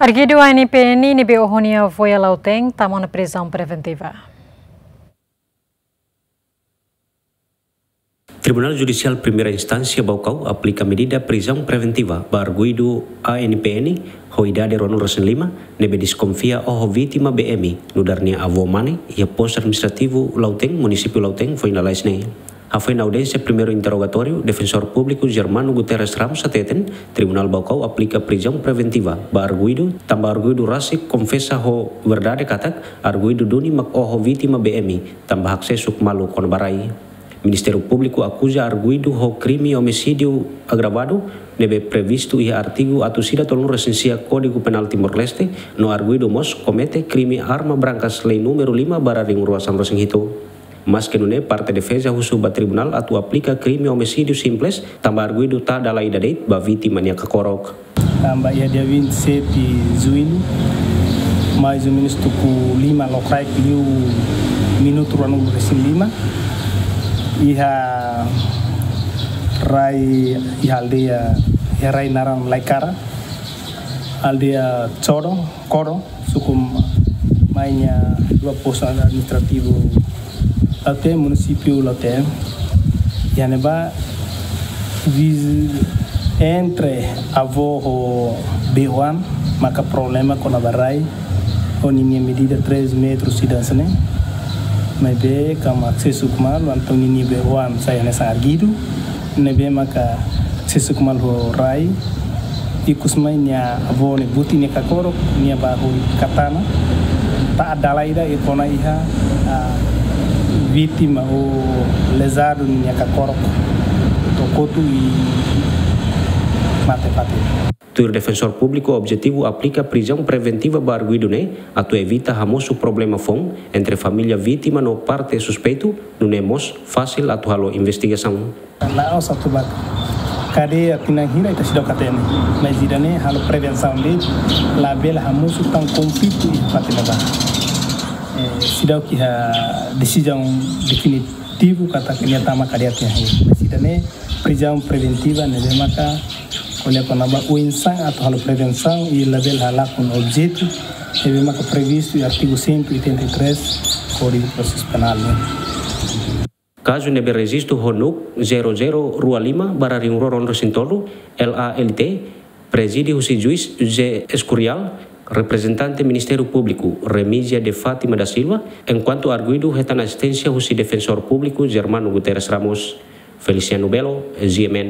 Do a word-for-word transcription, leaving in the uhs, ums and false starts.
Arguidu A N P N ne'ebé oho nia avó iha Lautém tama ona prizaun preventiva. Tribunál Judisiál Primeira Instánsia Baucau aplika medida prizaun preventiva ba arguidu A N P N ho idade ruanulu-resin-lima, ne'ebé deskonfia oho vítima B M nu'udar nia avó mane iha Postu Administrativu Lautém, Munisípiu Lautém, foin lalais ne'e. Hafoin audiénsia primeiru interrogatóriu, Defensór Públiku Germano Guterres Ramos hateten, Tribunál Baucau aplika prizaun preventiva ba arguidu, tanba arguidu rasik konfesa ho verdade katak arguidu duni mak oho vítima B M, tanba haksesuk malu kona-ba rai. Ministériu Públiku akuza arguidu ho krime omisídiu agravadu, ne'ebé previstu iha artigu atus ida tolunulu-resin-sia Kódigu Penál Timor-Leste, no arguidu mós komete krime arma brankas lei númeru lima barra ruanulu-resin-hitu. Maske nune'e, parte defeza husu ba tribunál atu aplika krime omisídiu simples, tanba arguidu tau dala ida de'it ba vítima nia kakorok. Tanba iha dia vinte e sete Juñu, mais ou menus tuku lima lokraik liu minutu ruanulu-resin-lima, iha rai, iha aldeia, iha rai naran Laikara, aldeia Coro, Coro, suku Maña dua, Postu Administrativu Lautém, Munisípiu Lautém. Iha ne'ebá, viz-, entre avó ho be-oan maka problema kona-ba rai, ho ninia medida três metros ida hanesan ne'e. Maibé, kama haksesuk malu, entaun ninia be-oan sai hanesan arguidu, ne'ebé maka haksesuk malu ho rai, ikus mai nia avó ne'e buti nia kakorok, nia bá hodi katana, tau dala ida i kona iha, ah, vítima ou lezadu nia kakorok, to'o kotu i mate fatin. Tuir Defensór Públiku, objetivu aplika prizaun preventiva ba arguidu ne'e atu evita hamosu problema foun entre família vítima no parte suspeitu, nune'e mós fasil atu halo investigasaun. La'ós atu ba kadeia tinan hira ita seidauk hatene. Mas ida-ne'e halo prevensaun de'it, labele hamosu tan konflitu iha fatin ne'ebá. Eh, seidauk iha desizaun definitivu katak nia tama kadeia tinan hira. Mas ida-ne'e prizaun preventiva ne'ebé maka ko'alia kona-ba oinsá atu halo prevensaun i labele halakon objetu ne'ebé maka previstu iha artigu cento e oitenta e três Kódigu Prosesu Penál ne'e. Kazu ne'ebé rejistu ho NUC zero zero rua lima barra rihun rua ruanulu-resin-tolu, L A L T, prezide husi juís José Escurial, reprezentante Ministériu Públiku, Remígia de Fátima da Silva, enkuantu arguidu hetan asisténsia husi Defensór Públiku Germano Guterres Ramos. Feliciano Belo, G M N.